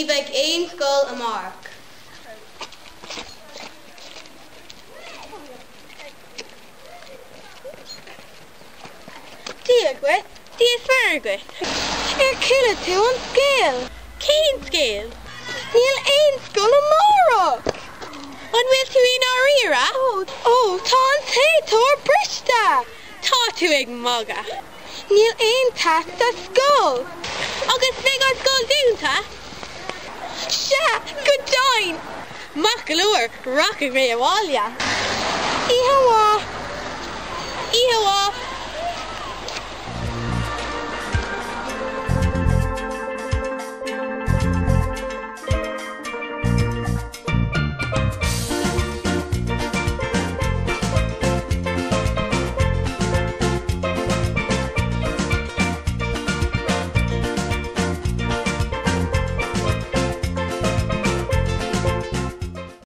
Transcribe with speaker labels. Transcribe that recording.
Speaker 1: Ní bheidh aon scoil amárach.
Speaker 2: Dia dhuit, Dia is Muire dhuit. Ar chuala tú an scéal?
Speaker 1: Cén scéal?
Speaker 2: Níl aon scoil amárach!
Speaker 1: An bhfuil tú i ndáiríre?
Speaker 2: Ó, tá an téiteoir briste!
Speaker 1: Tá tú ag magadh.
Speaker 2: Níl aon teas sa scoil!
Speaker 1: Agus beidh an scoil dúnta?
Speaker 2: Sea, go deimhin!
Speaker 1: Maith go leor, rachaidh mé abhaile.
Speaker 2: Oíche mhaith.
Speaker 1: Oíche mhaith.